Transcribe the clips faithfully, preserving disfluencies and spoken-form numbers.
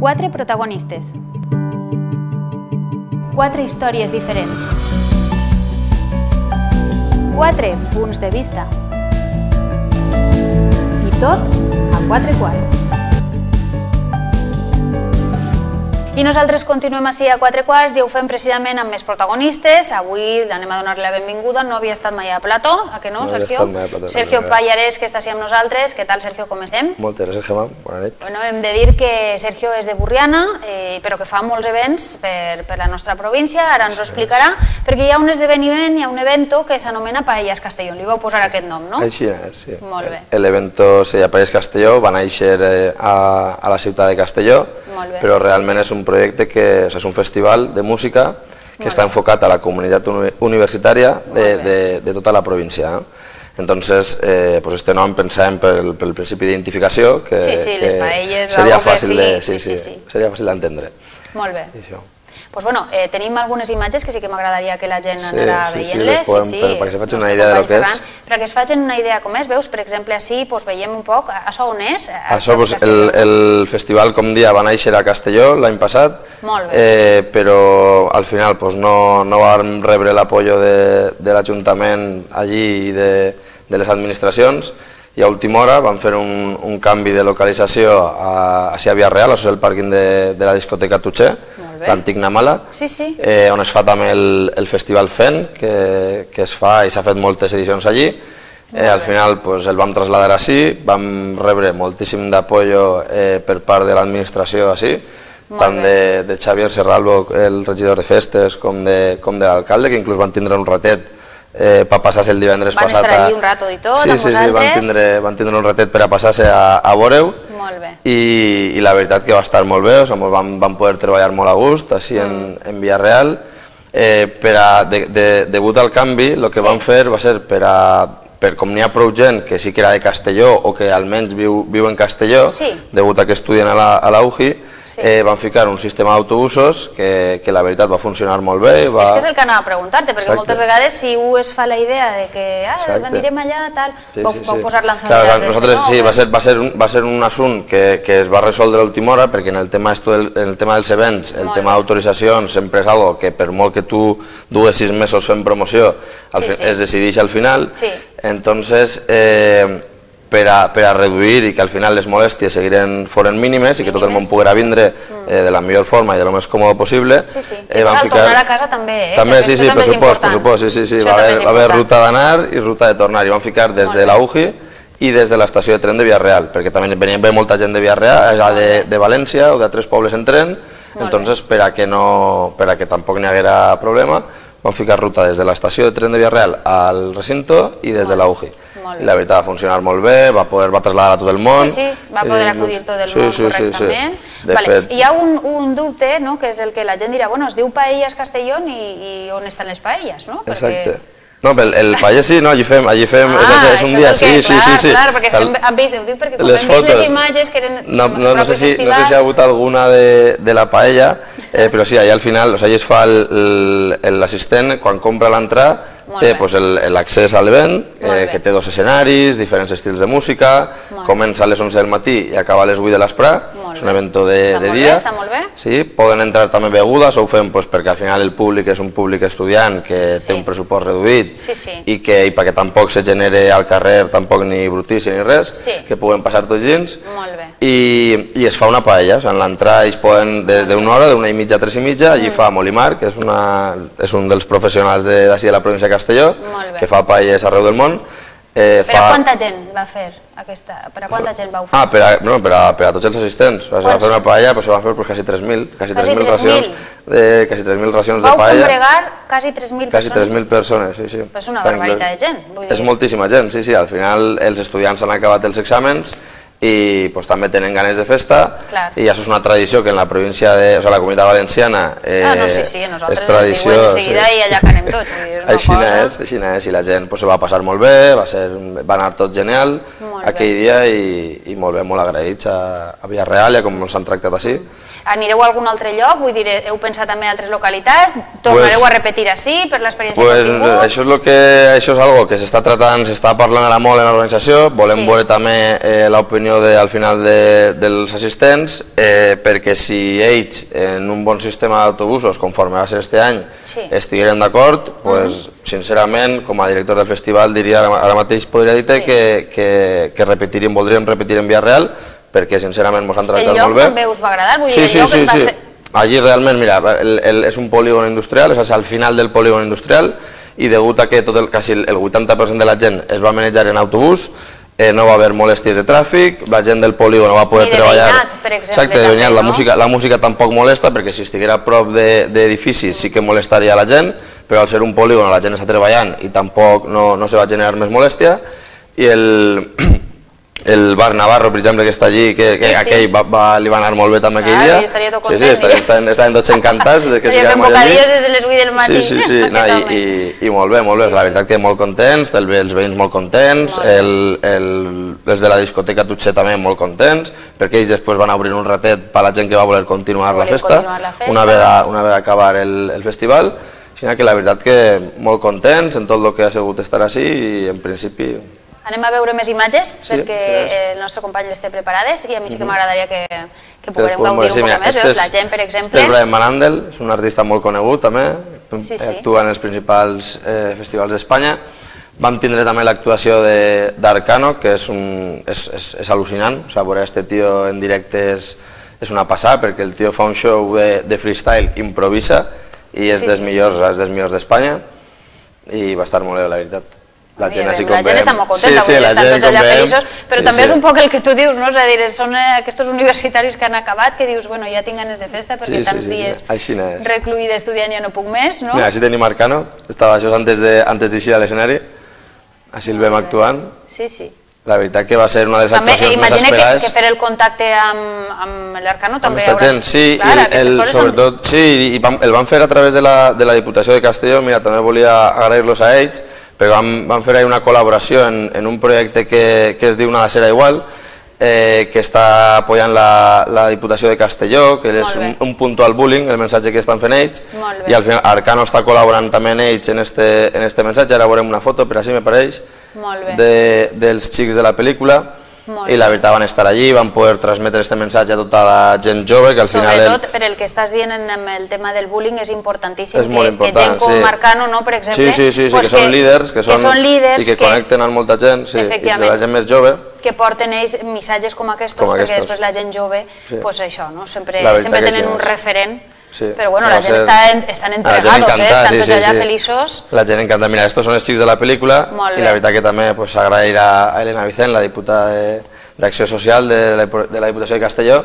Quatre protagonistes. Quatre històries diferents. Quatre punts de vista. I tot a quatre quarts. I nosaltres continuem així a quatre quarts i ho fem precisament amb més protagonistes. Avui l'anem a donar la benvinguda, no havia estat mai a plató, a què no, Sergio? Sergio Pallarès, que està així amb nosaltres. Què tal, Sergio, com estem? Moltes gràcies, Gemma. Bona nit. Bueno, hem de dir que Sergio és de Burriana, eh, però que fa molts events per, per la nostra província, ara ens ho explicarà, perquè hi ha un esdeveniment, hi ha un evento que s'anomena Paelles Castelló. Li vau posar aquest nom, no? Així és, sí. Molt bé. L'evento se llama Paelles Castelló, va néixer eh, a, a la ciutat de Castelló, però realment és un projecte que o sea, és un festival de música que està enfocat a la comunitat universitària de, de, de tota la província. ¿no? Entonces, eh, pues este nom pensàvem pel, pel principi d'identificació que, sí, sí, que les paelles, seria algo fàcil que sí, de, sí, sí, sí, sí, sí. seria fàcil d'entendre. Molt bé. Pues bueno, eh, tenim algunes imatges que sí que m'agradaria que la gent sí, anara sí, veient-les. Sí, sí, sí, per, perquè se facin una idea de lo que és. Perquè es facin una idea com és, veus, per exemple, així pues, veiem un poc, això on és? Això, pues, el, el festival, com dia, va néixer a Castelló l'any passat, eh, però al final pues, no, no vam rebre l'apoyo de, de l'Ajuntament allí i de, de les administracions, i a última hora vam fer un, un canvi de localització a, a Via Real, això és el pàrquing de, de la discoteca Tutxer, l'antic Namala, sí, sí. eh, on es fa també el, el Festival Fent, que, que es fa i s'ha fet moltes edicions allí. Eh, al final pues, el vam traslladar així, vam rebre moltíssim d'apoyo eh, per part de l'administració així, tant de, de Xavier Serralbo, el regidor de festes, com de, com de l'alcalde, que inclús van tindre un ratet Eh, per passar-se el divendres van passat. Van estar allí un rato i tot, sí, amb sí, vosaltres? Sí, van tindre, van tindre un ratet per a passar-se a, a veure-ho. Molt bé. I, I la veritat que va estar molt bé, o sigui, vam, vam poder treballar molt a gust, així mm. en, en Via Real. Eh, per a, de, de, degut al canvi, el que sí. vam fer va ser per a, per com n'hi ha prou gent que sí que era de Castelló o que almenys viu, viu en Castelló, sí. degut a que estudien a la, a la U J I, Sí. Eh, van ficar un sistema d'autobusos que, que la veritat va funcionar molt bé. Va... És que és el que anava a preguntar-te, perquè Exacte. moltes vegades si u es fa la idea de que ah, anirem allà, tal, sí, vau, sí, vau sí. posar lanzadores claro, nosaltres, no, sí, va ser, va, ser un, va ser un assunt que, que es va resoldre a l'última hora, perquè en el tema, esto, el, en el tema dels events, el molt tema d'autoritzacions sempre és algo que per molt que tu dues sis mesos fent promoció, al sí, sí. es decideix al final. Sí. Entonces, eh, Per a, per a reduir i que al final les molèsties seguiren foren mínimes i que tot el món poguera vindre eh, de la millor forma i de lo més còmode possible. Sí, sí. I eh, pues al ficar... tornar a casa també, eh? També, sí, sí, per supost, per supost, sí, sí, sí. Va haver, va haver ruta d'anar i ruta de tornar i vam ficar des de la U J I i des de l'estació de tren de Via Real, perquè també venien bé molta gent de Via Real, de, de València o d'altres pobles en tren, entonces per a que, no, per a que tampoc n'hi haguera problema, vam ficar ruta des de l'estació de tren de Via Real al recinto i des de la U J I. I la veritat va funcionar molt bé, va poder va traslladar a tot el món. Sí, sí, va poder acudir tot el sí, món sí, correctament. Sí, sí. Vale. Fet... Hi ha un, un dubte, no?, que és el que la gent dirà, bueno, es diu Paelles Castelló i, i on estan les paelles, no? Exacte. Perquè... No, el, el paelles sí, no, allí fem, allí fem, ah, és, és un dia, és que, sí, clar, sí, sí. Clar, perquè Cal... hem vist, ho dic perquè quan hem vist les imatges que eren no, no, no, sé si, no sé si ha hagut alguna de, de la paella, eh, però sí, allà al final, o sigui, es fa l'assistent, quan compra l'entrada, té pues, l'accés a l'event, eh, que té dos escenaris, diferents estils de música, comença a les onze del matí i acaba a les vuit de l'esprà, és un event de, de dia. Està molt bé. Sí, poden entrar també begudes, ho fem pues, perquè al final el públic és un públic estudiant que sí. té un pressupost reduït sí, sí. i, que, i perquè tampoc se genere al carrer tampoc ni brutícia ni res, sí. que puguen passar tots dins. Molt bé. I, i es fa una paella, o sigui, en l'entrada ells poden d'una hora, d'una i mitja a tres i mitja, allí mm. fa Molimar, que és, una, és un dels professionals d'ací de, de la província de Castelló, que fa paelles arreu del món. Eh, per fa... a quanta gent va fer aquesta? Per a quanta gent vau fer? Ah, per a, no, per a, per a tots els assistents. Se va fer una paella, però se van fer pues, quasi tres mil, quasi tres mil racions, de, quasi tres mil racions de paella. Vau congregar quasi tres mil persones? Quasi tres mil persones, sí, sí. Però és una barbaritat de gent. Vull dir... És moltíssima gent, sí, sí. Al final els estudiants han acabat els exàmens i pues, també tenen ganes de festa. Clar. I això és una tradició que en la província de, o sigui, la Comunitat Valenciana eh, ah, no, sí, sí, nosaltres és tradició. De seguida sí. I allà que anem tots. Vull dir, és així cosa... és, així és, i la gent pues, se va passar molt bé, va, ser, va anar tot genial aquell dia i molt bé, molt agraïts a Vila-real i a com ens han tractat així. Anireu a algun altre lloc? Vull dir, heu pensat també en altres localitats? Tornareu a repetir així per l'experiència que heu tingut? Això és el que, això és algo que s'està tratant, s'està parlant ara molt en l'organització, volem veure també l'opinió al final dels assistents, perquè si ells en un bon sistema d'autobusos, conforme va ser este any, estigueren d'acord, sincerament, com a director del festival, diria ara mateix podria dir que repetiríem, voldríem repetir en Vila-real, perquè sincerament ens han tractat molt bé. El lloc també us va agradar? Sí, sí, sí, sí. Allí realment, mira, és un polígon industrial, és al final del polígon industrial, i degut a que quasi el vuitanta per cent de la gent es va manejar en autobús, no va haver molèsties de tràfic, la gent del polígon no va poder treballar. Ni de veïnat, per exemple. Exacte, de veïnat. La música tampoc molesta, perquè si estiguera a prop d'edificis sí que molestaria la gent, però al ser un polígon la gent està treballant i tampoc no se va generar més molèstia. I el... el bar Navarro, per exemple, que està allí, que aquell li va anar molt bé també aquell dia. Ah, estaria tot content. Sí, sí, estaven tots encantats. Estaria fent bocadillos des de les vuit del matí. Sí, sí, sí, i molt bé, molt bé. La veritat que molt contents, els veïns molt contents, els de la discoteca Tutxer també molt contents, perquè ells després van obrir un ratet per a la gent que va voler continuar la festa, una vegada acabar el festival. Així que la veritat que molt contents en tot el que ha sigut estar així i en principi... Anem a veure més imatges, perquè el nostre company les té preparades i a mi sí que m'agradaria que puguem gaudir un poc més. Veus la gent, per exemple... Este és Brian Van Andel, és un artista molt conegut també, actua en els principals festivals d'Espanya. Vam tindre també l'actuació d'Arcano, que és al·lucinant, o sigui, veure este tio en directe és una passada, perquè el tio fa un show de freestyle, improvisa, i és dels millors d'Espanya, i va estar molt bé, la veritat. La gent està molt contenta, estan tots allà feliços, però també és un poc el que tu dius, és a dir, són aquests universitaris que han acabat, que dius, bueno, ja tinc ganes de festa perquè tants dies recluïda estudiant ja no puc més, no? Mira, així tenim Arcano, estava això antes d'eixir a l'escenari, així el vam actuant. Sí, sí. La veritat que va ser una de les actuacions més esperades. Imagina que fer el contacte amb l'Arcano també hauràs... Sí, sobretot, sí, i el van fer a través de la Diputació de Castelló, mira, també volia agrair-los a ells, però vam fer una col·laboració en un projecte que es diu Nada serà igual, que està apoyant la Diputació de Castelló, que és un punto al bullying, el missatge que estan fent ells, i al final Arcano està col·laborant també en ells en este missatge, ara veurem una foto, per així me pareix, dels xics de la pel·lícula, i la veritat van estar allí, van poder transmetre aquest missatge a tota la gent jove, que al final... Sobretot per el que estàs dient amb el tema del bullying és importantíssim, que gent com Arcano, per exemple... Sí, sí, sí, que són líders, i que connecten amb molta gent, i la gent més jove... que porten ells missatges com aquests, perquè després la gent jove, doncs això, sempre tenen un referent, però bueno, la gent estan entregados, estan tots allà feliços. La gent encanta, mira, estos són els xics de la pel·lícula, i la veritat que també agrair a Elena Vicent, la diputada d'Acció Social de la Diputació de Castelló,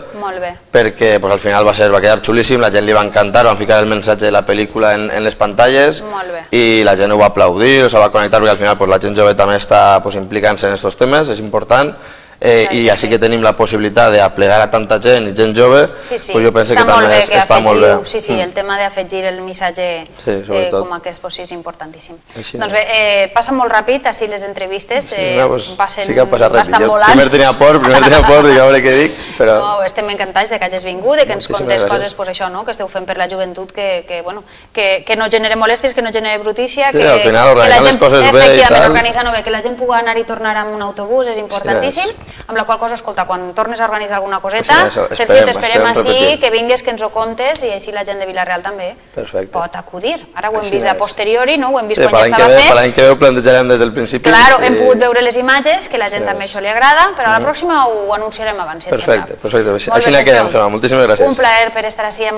perquè al final va quedar xulíssim, la gent li va encantar, van ficar el missatge de la pel·lícula en les pantalles i la gent ho va aplaudir, se va connectar, perquè al final la gent jove també està implicant-se en aquests temes, és important, i així que tenim la possibilitat d'aplegar a tanta gent i gent jove, jo penso que també està molt bé. Sí, sí, el tema d'afegir el missatge com aquest és importantíssim. Doncs bé, passen molt ràpid, així les entrevistes, passen bastant volant. Primer tenia por, primer tenia por, dic a veure què dic, però... Estem encantats que hagis vingut, que ens contes coses, això, que esteu fent per la joventut, que no genere molèsties, que no genere brutícia, que al final organitzant les coses bé i tal. Organitzant-ho bé, que la gent pugui anar i tornar amb un autobús és importantíssim. Amb la qual cosa, escolta, quan tornes a organitzar alguna coseta, t'esperem així, que vingues, que ens ho contes, i així la gent de Vila-real també pot acudir. Ara ho hem vist a posteriori, ho hem vist quan ja estava fet. Per l'any que ve ho plantejarem des del principi. Clar, hem pogut veure les imatges, que la gent també això li agrada, però a la pròxima ho anunciarem abans, si et sembla. Perfecte, perfecte. Així n'hi quedem, Gemma. Moltíssimes gràcies. Un plaer per estar així,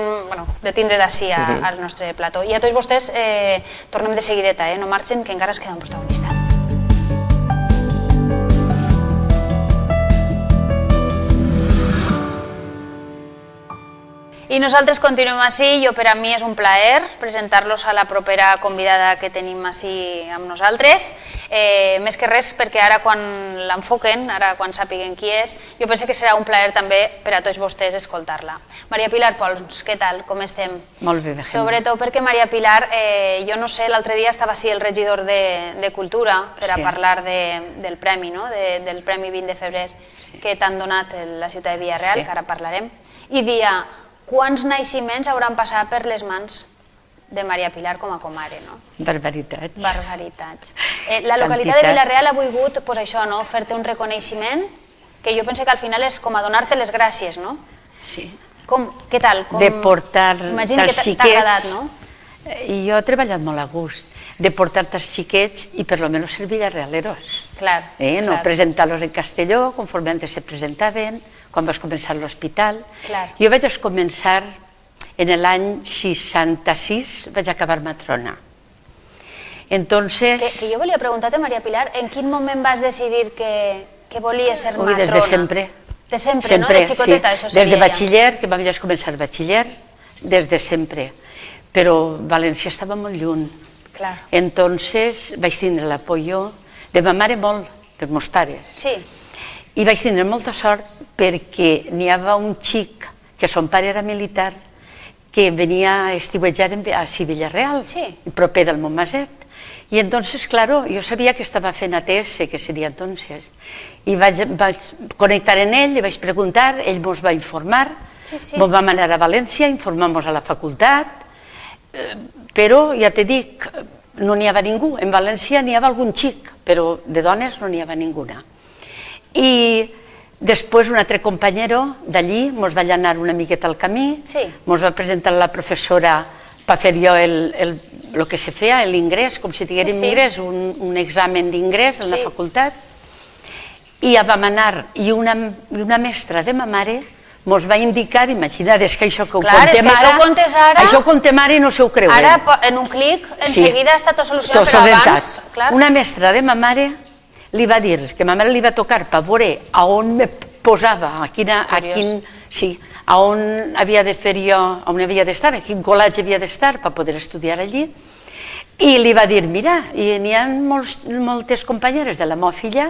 de tindre d'ací al nostre plató. I a tots vostès, tornem de seguideta, no marxen, que encara es queda un protagonista. I nosaltres continuem així, jo per a mi és un plaer presentar-los a la propera convidada que tenim així amb nosaltres, més que res perquè ara quan l'enfoquen, ara quan sàpiguen qui és, jo penso que serà un plaer també per a tots vostès escoltar-la. Maria Pilar Pons, què tal, com estem? Molt bé, Vicent. Sobretot perquè Maria Pilar, jo no sé, l'altre dia estava així el regidor de Cultura per a parlar del premi, del Premi vint de febrer que t'han donat la ciutat de Vila-real, que ara parlarem, i dia quants naixements hauran passat per les mans de Maria Pilar com a comare, no? Barbaritats. Barbaritats. La localitat de Vila-real ha volgut, doncs això, no?, fer-te un reconeixement que jo penso que al final és com a donar-te les gràcies, no? Sí. Com, què tal? De portar Imagino que tals t'ha agradat, no? I jo he treballat molt a gust, de portar tals xiquets i per lo menos ser villarealeros. Clar. No presentar-los en Castelló, conforme antes se presentaven, quan vas començar l'hospital. Jo vaig començar en l'any seixanta-sis, vaig acabar matrona. Entonces... Que jo volia preguntar-te, Maria Pilar, en quin moment vas decidir que volies ser matrona? Ui, des de sempre. De sempre, no? De xicoteta, això seria ja. Des de batxiller, que vaig començar batxiller, des de sempre. Però València estava molt lluny. Entonces vaig tindre l'apoyo de ma mare molt, dels meus pares. Sí. I vaig tindre molta sort perquè n'hi havia un xic, que son pare era militar, que venia a estiuejar a Vila-real, proper del Montmaset. I entonces, claro, jo sabia que estava fent A T S, que seria entonces. I vaig connectar en ell, li vaig preguntar, ell ens va informar, ens vam anar a València, informar-nos a la facultat, però ja te dic, no n'hi havia ningú. En València n'hi havia algun xic, però de dones no n'hi havia ninguna. I després un altre companyero d'allí ens va anar una miqueta al camí, ens va presentar la professora per fer jo el que se feia, l'ingrés, com si diguéssim ingrés, un examen d'ingrés a la facultat, i ja vam anar, i una mestra de ma mare ens va indicar, imagina't, és que això que ho contem ara, això ho contem ara i no se ho creuen. Ara, en un clic, en seguida està tot solucionat, però abans... Una mestra de ma mare li va dir que ma mare li va tocar per veure a on me posava, a quin, sí, a on havia de fer jo, on havia d'estar, a quin col·legi havia d'estar per poder estudiar allí, i li va dir, mira, hi ha moltes companyeres de la meva filla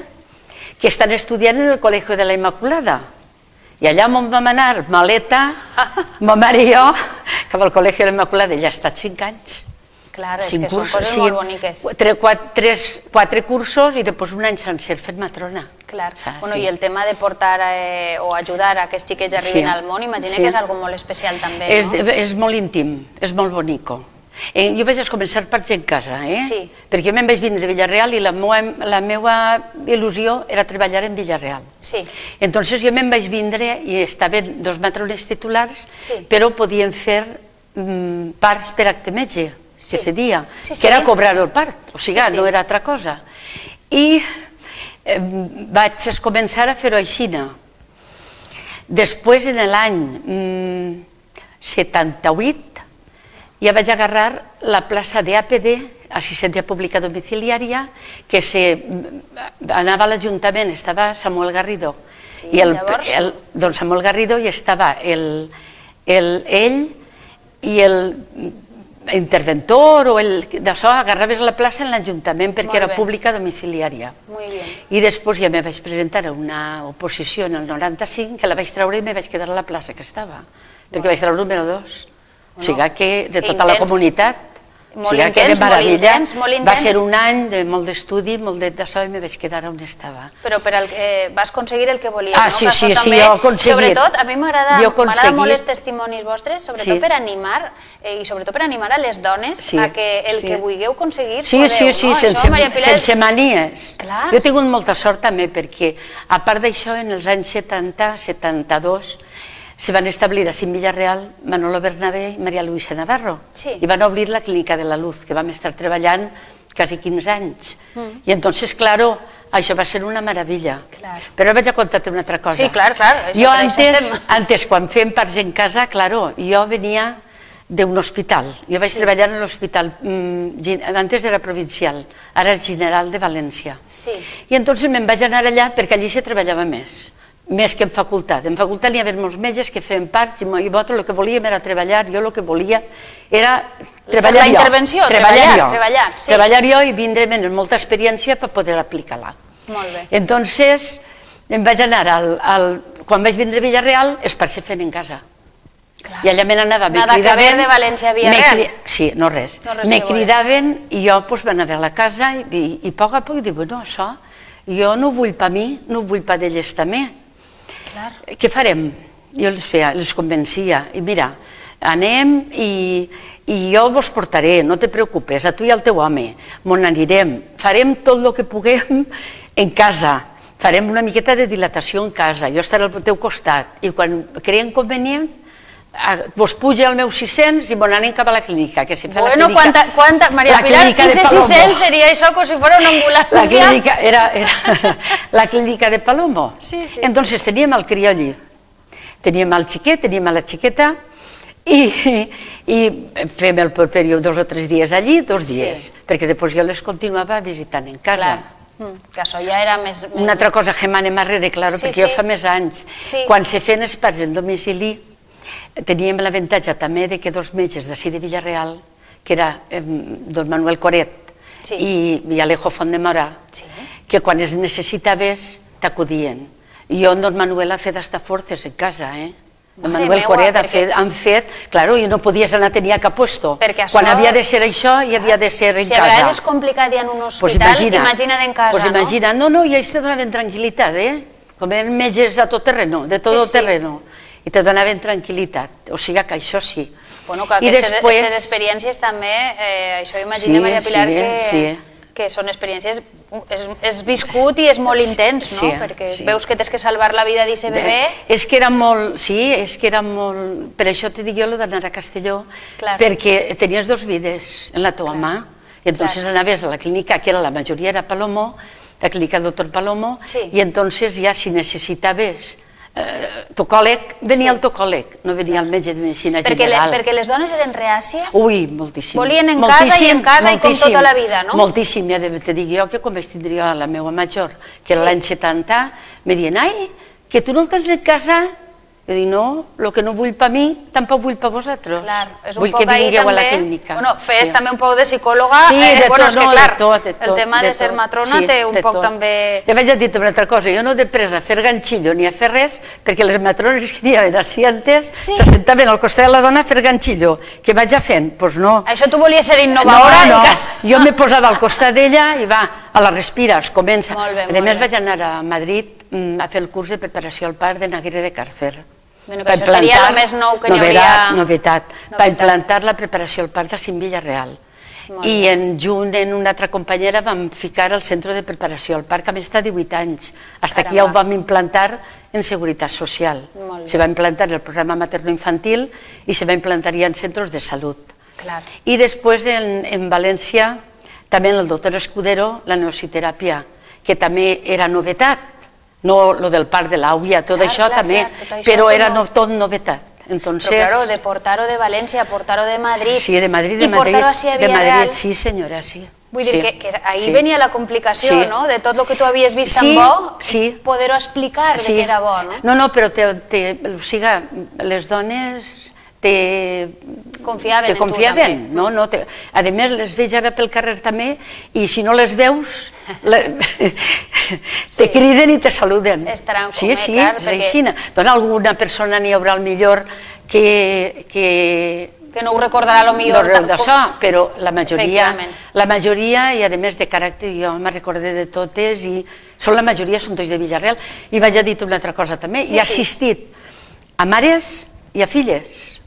que estan estudiant en el Col·legi de la Immaculada. I allà on vam anar, maleta, ma mare i jo, que al Col·legi de la Immaculada ella ha estat cinc anys. Clar, és que són coses molt boniques. Quatre cursos i després un any sencer fent matrona. Clar, i el tema de portar o ajudar a que els xiquets arribin al món, imagina que és una cosa molt especial també, no? És molt íntim, és molt bonico. Jo vaig començar per gent casa, perquè me'n vaig vindre a Vila-real i la meva il·lusió era treballar en Vila-real. Entonces jo me'n vaig vindre i estaven dos matrones titulars, però podien fer parts per acte metge, que se dia, que era cobrar el part, o sigui, no era altra cosa. I vaig començar a fer-ho així. Després, en l'any setanta-vuit, ja vaig agarrar la plaça d'A P D, assistència pública domiciliària, que anava a l'Ajuntament, estava Samuel Garrido. Doncs Samuel Garrido hi estava ell i el interventor o d'això, agarraves la plaça en l'Ajuntament perquè era pública domiciliària. I després ja me vaig presentar a una oposició en el noranta-cinc, que la vaig treure i me vaig quedar a la plaça que estava, perquè vaig treure el número dos. O sigui que de tota la comunitat, o sigui que de meravella, va ser un any de molt d'estudi, molt d'això, i me vaig quedar on estava. Però vas aconseguir el que volies, no? Ah, sí, sí, sí, jo ho he aconseguit. Sobretot, a mi m'agrada molt els testimonis vostres, sobretot per animar, i sobretot per animar a les dones a que el que vulgueu aconseguir podeu, no? Sí, sí, sí, sense manies. Jo he tingut molta sort també, perquè a part d'això, en els anys setanta, setanta-dos, se van establir a Vila-real Manolo Bernabé i Maria Luisa Navarro i van obrir la Clínica de la Luz, que vam estar treballant quasi quinze anys. I entonces, claro, això va ser una meravella. Però vaig a contar-te una altra cosa. Sí, clar, clar. Jo antes, quan fem parts en casa, claro, jo venia d'un hospital. Jo vaig treballar en l'hospital, antes era provincial, ara és general de València. I entonces me'n vaig anar allà perquè allí se treballava més. més que en facultat. En facultat hi havia molts metges que feien parts i nosaltres el que volíem era treballar, jo el que volia era treballar jo. La intervenció, treballar, sí. Treballar jo i vindre amb molta experiència per poder aplicar-la. Molt bé. Entonces, em vaig anar, quan vaig vindre a Villarreal, es parse fent en casa. I allà me n'anava, me cridaven... Nada que ver de València a Villarreal. Sí, no res. Me cridaven i jo m'anava a la casa i a poc a poc dic, bueno, això, jo no ho vull per mi, no ho vull per d'elles també. Què farem? Jo els feia, els convencia, i mira, anem i jo vos portaré, no te preocupes, a tu i al teu home, m'on anirem, farem tot el que puguem en casa, farem una miqueta de dilatació en casa, jo estaré al teu costat, i quan creiem convenient, vos puja el meu sis-cents i m'on anem cap a la clínica. Bueno, quanta... Maria Pilar, quinze sis-cents seria això com si fos una ambulància. La clínica era la clínica de Palomo. Sí, sí. Entonces teníem el crió allí. Teníem el xiquet, teníem la xiqueta i fem el període dos o tres dies allí, dos dies, perquè després jo les continuava visitant en casa. Que això ja era més... Una altra cosa que m'anem arrere, clar, perquè jo fa més anys. Quan se feien els parts en domicili, teníem l'avantatge també que dos metges d'ací de Villarreal, que era don Manuel Coret i Alejo Font-de-Mora, que quan es necessitaves t'acudien. I jo amb don Manuel ha fet hasta forces en casa, eh? Don Manuel Coret han fet... Claro, jo no podies anar, tenia cap puesto. Quan havia de ser això, hi havia de ser en casa. Si a vegades és complicat ja en un hospital, imagina't en casa, no? Pues imagina't, no, no, i ells te donaven tranquil·litat, eh? Com eren metges a tot terreno, de tot terreno. I te donaven tranquil·litat, o sigui que això sí. Bueno, que aquestes experiències també, això imagina, Maria Pilar, que són experiències, és viscut i és molt intens, no? Perquè veus que tens que salvar la vida d'aquest bebè. És que era molt, sí, és que era molt... Per això te dic jo d'anar a Castelló, perquè tenies dos vides en la teva mà, i entonces anaves a la clínica, que la majoria era Palomo, la clínica del doctor Palomo, i entonces ja si necessitaves tocòleg, venia el tocòleg, no venia el metge de medicina general. Perquè les dones eren reàcies? Ui, moltíssim. Volien en casa i en casa i com tota la vida, no? Moltíssim, ja te dic jo que quan vaig tindre la meva major, que era l'any setanta, me diuen, ai, que tu no el tens en casa? Jo dic, no, el que no vull per mi, tampoc vull per vosaltres. Vull que vingueu a la clínica. Bueno, fes també un poc de psicòloga. Sí, de tot, no, de tot. El tema de ser matrona té un poc també... Ja vaig a dir una altra cosa, jo no he pres a fer ganxillo ni a fer res, perquè les matrones que n'hi havia així antes se sentaven al costat de la dona a fer ganxillo. Què vaig a fent? Doncs no. Això tu volies ser innovadora? No, no, jo me posava al costat d'ella i va, a la respira, es comença. A més vaig anar a Madrid a fer el curs de preparació al part de Naguirre de Càrcer. Que això seria el més nou que n'hi hauria... Novetat, per implantar la preparació al part a Cim Villarreal. I en junt, en una altra companyera, vam ficar al centre de preparació al part, que a més està divuit anys. Fins aquí ja ho vam implantar en Seguretat Social. Se va implantar el programa materno-infantil i se va implantar ja en centres de salut. I després, en València, també en el doctor Escudero, la neociteràpia, que també era novetat. No lo del part de l'àvia, tot això també, però era tot novetat. Però, claro, de portar-ho de València, portar-ho de Madrid... Sí, de Madrid, de Madrid. I portar-ho així a Villarreal. Sí, senyora, sí. Vull dir que ahir venia la complicació, no?, de tot el que tu havies vist tan bo, poder-ho explicar de que era bo, no? No, no, però les dones... te confiaven en tu també. A més, les veig ara pel carrer també i si no les veus te criden i te saluden. Estaran com, sí, sí, és així. Doncs alguna persona n'hi haurà al millor que... que no ho recordarà el millor d'això, però la majoria, la majoria, i a més de caràcter, jo me recordé de totes, i són la majoria són tots de Villarreal. I vaig a dir una altra cosa també, he assistit a mares i a filles.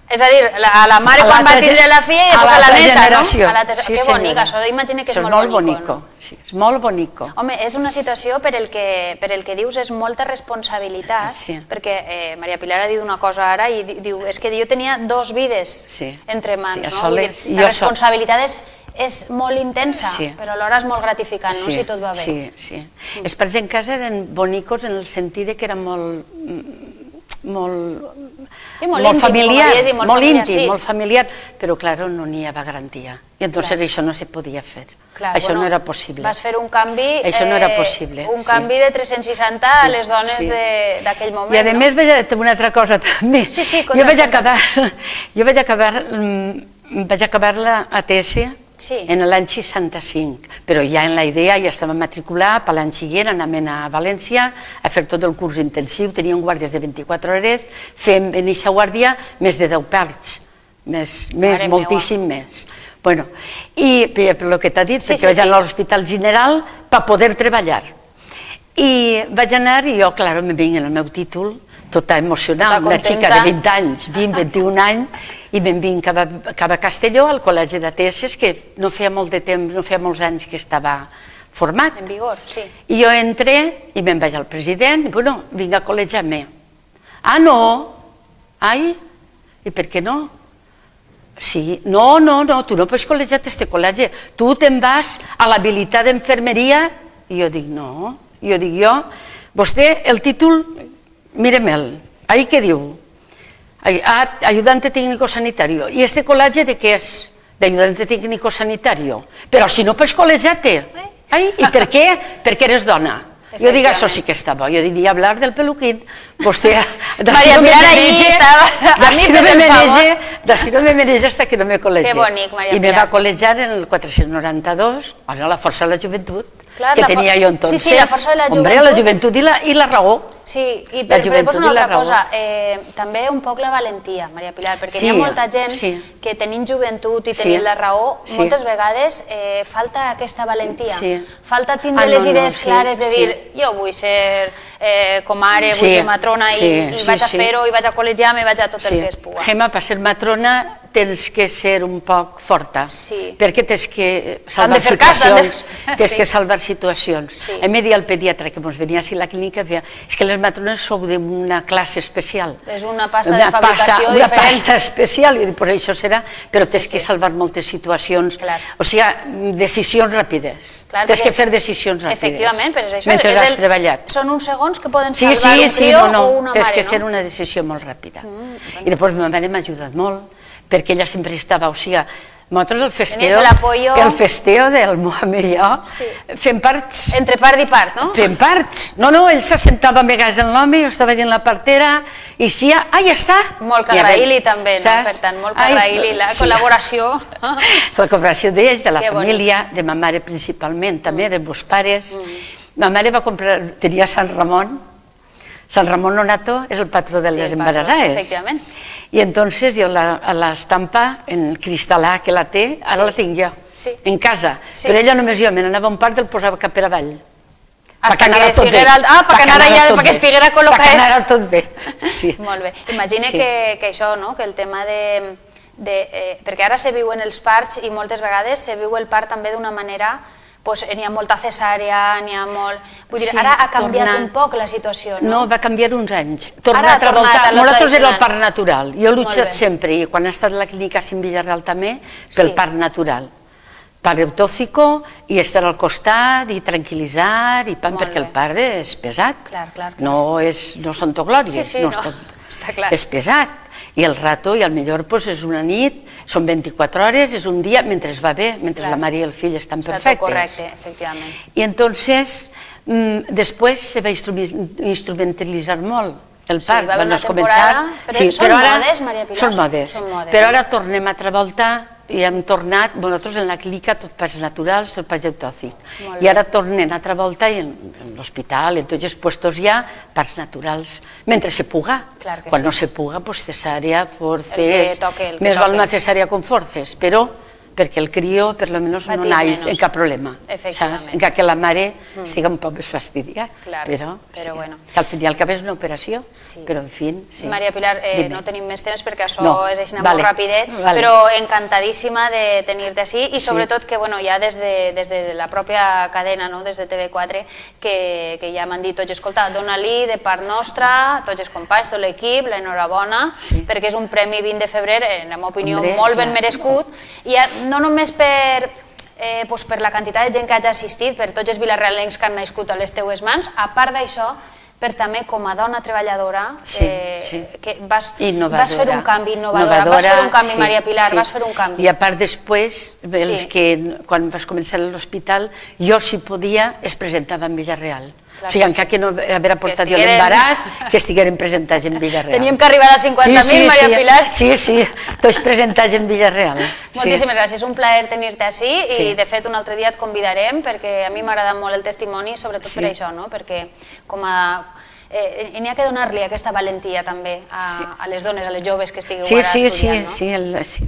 És a dir, a la mare quan va tindre la filla i després a la neta, no? Que bonic, això imagina que és molt bonic. És molt bonic. Home, és una situació per el que dius és molta responsabilitat, perquè Maria Pilar ha dit una cosa ara i diu, és que jo tenia dos vides entre mans, no? La responsabilitat és molt intensa, però alhora és molt gratificant, no?, si tot va bé. Sí, sí. Els parts en casa eren bonicos en el sentit que eren molt... molt molt familiar, molt íntim, molt familiar, però, clar, no n'hi havia garantia. I entonces això no se podia fer. Això no era possible. Vas fer un canvi un canvi de tres-cents seixanta a les dones d'aquell moment. I a més, una altra cosa també. Jo vaig acabar jo vaig acabar vaig acabar la A T S en l'any seixanta-cinc, però ja en la idea ja estava matriculat, per l'any següent anàvem a València a fer tot el curs intensiu, teníem guàrdies de vint-i-quatre hores, fem en aquesta guàrdia més de deu parts, més, moltíssim més. Bueno, i per el que t'ha dit, perquè vaig anar a l'Hospital General per poder treballar. I vaig anar i jo, clar, me vinc en el meu títol, tota emocional, una xica de vint anys, vint, vint-i-un anys, i me'n vinc cap a Castelló, al Col·legi d'A T S, que no feia molt de temps, no feia molts anys que estava format. En vigor, sí. I jo entré i me'n vaig al president, i bueno, vinc a col·legiar-me. Ah, no? Ai, i per què no? Sí, no, no, no, tu no pots col·legiar a este col·legi, tu te'n vas a l'habilitat d'enfermeria, i jo dic, no, jo dic jo, vostè, el títol, míreme'l, ahí què diu? Ayudante técnico sanitario. ¿Y este col·legi de què és? De ayudante técnico sanitario. Però si no pots col·legiar-te. I per què? Perquè eres dona. Jo dic, això sí que està bo. Jo diria hablar del peluquín. Vostè... Maria Pilar allí estava... D'ací no me mereix hasta que no me col·legi. Que bonic, Maria Pilar. I me va col·legiar en el quatre-cents noranta-dos, a la Força de la Joventut, que tenia jo entonces. Sí, sí, la Força de la Joventut. Hombre, la joventut i la raó. Sí, i per després una altra cosa, també un poc la valentia, Maria Pilar, perquè hi ha molta gent que tenint joventut i tenint la raó, moltes vegades falta aquesta valentia, falta tindre les idees clares de dir jo vull ser com ara, vull ser matrona i vaig a fer-ho i vaig a col·legiar-me i vaig a tot el que es puga. Gemma, per ser matrona tens que ser un poc forta, perquè tens que salvar situacions, tens que salvar situacions. A mi deia el pediatre que ens venia a la clínica, és que les matrones sou d'una classe especial. És una pasta de fabricació diferent. Una pasta especial, i doncs això serà, però tens que salvar moltes situacions, o sigui, decisions ràpides. Tens que fer decisions ràpides. Efectivament, però és això. Mentre has treballat. Són uns segons que poden salvar un crió o una mare, no? Tens que ser una decisió molt ràpida. I després ma mare m'ha ajudat molt, perquè ella sempre estava, o sigui, nosaltres el festeo, el festeo del Mohamed i jo, fem parts. Entre part i part, no? Fem parts. No, no, ell s'assentava a vegades en l'home, jo estava dient la partera, i si ja, ah, ja està. Molt carraïli també, no? Per tant, molt carraïli, la col·laboració. La col·laboració d'ells, de la família, de ma mare principalment, també, de meus pares. Ma mare va comprar, tenia Sant Ramon, Sant Ramon Nonato és el patró de les embarassades. Efectivament. I entonces jo l'estampa en cristal·là que la té, ara la tinc jo, en casa. Però ella només jo, me n'anava un part i el posava cap per avall. Hasta que estiguera... Ah, perquè estiguera col·locat. Perquè anara tot bé. Molt bé. Imagina que això, que el tema de... Perquè ara se viuen els parts i moltes vegades se viu el part també d'una manera... N'hi ha molta cesària, n'hi ha molt... Vull dir, ara ha canviat un poc la situació, no? No, va canviar uns anys. Torna a treballar. Nosaltres era el part natural. Jo he luchat sempre, i quan he estat a la clínica Cim Villarreal també, pel part natural. Part eutóxico, i estar al costat, i tranquil·litzar, i pam, perquè el part és pesat. No són tot glòries, és pesat. I el rato, i al millor és una nit, són vint-i-quatre hores, és un dia, mentre va bé, mentre la mare i el fill estan perfectes. Està tot correcte, efectivament. I entonces, després se va instrumentalitzar molt el part. Sí, va haver una temporada, però són modes, Maria Pilar? Són modes, però ara tornem a altra volta i hem tornat, nosaltres en la clínica tot parts naturals, tot parts eutòxic. I ara tornem a altra volta i en l'hospital, en tots els puestos hi ha parts naturals, mentre se puga. Quan no se puga, doncs cesària, forces, més val una cesària con forces, però perquè el crió, per lo menos, no naix en cap problema. Encara que la mare estigui un poc més fastidiada, però que al fin i al cap és una operació, però en fi... Maria Pilar, no tenim més temps perquè això és així molt rapidet, però encantadíssima de tenir-te així i sobretot que ja des de la pròpia cadena, des de T V quatre, que ja m'han dit tots, escolta, dona-li de part nostra, tots els companys, tot l'equip, l'enhorabona, perquè és un premi vint de febrer, en la meva opinió, molt ben merescut, i no només per la quantitat de gent que hagi assistit, per tots els vilarealencs que han nascut a les teues mans, a part d'això, per també com a dona treballadora que vas fer un canvi innovadora, vas fer un canvi, Maria Pilar, vas fer un canvi. I a part després, quan vas començar a l'hospital, jo si podia es presentava en Villarreal. O sigui, encara que no haver aportat jo l'embaràs, que estigueren presentats en Villarreal. Teníem que arribar a cinquanta mil, Maria Pilar. Sí, sí, tots presentats en Villarreal. Moltíssimes gràcies, un plaer tenir-te així i de fet un altre dia et convidarem perquè a mi m'agrada molt el testimoni, sobretot per això, perquè com a... n'hi ha que donar-li aquesta valentia també a les dones, a les joves que estigueu ara estudiant. Sí, sí, sí.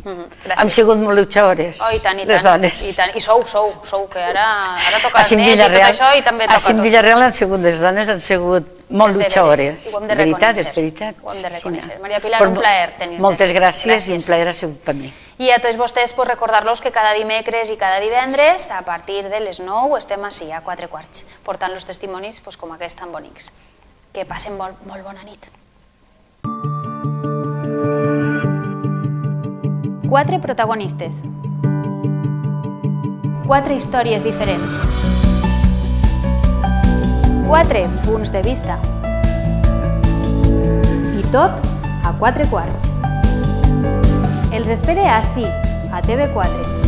Hem sigut molt luchadores, les dones. I sou, sou, sou, que ara toca el net i tot això i també toca tot. Així en Villarreal han sigut les dones, han sigut molt luchadores. I ho hem de reconèixer. És veritat, Ho hem de reconèixer. Maria Pilar, un plaer tenir-te. Moltes gràcies i un plaer ha sigut per mi. I a tots vostès recordar-los que cada dimecres i cada divendres, a partir de les nou, estem així a quatre quarts, portant els testimonis com aquests tan bonics. Que passen molt bona nit. Quatre protagonistes. Quatre històries diferents. Quatre punts de vista. I tot a quatre quarts. Els espere ací, a T V quatre.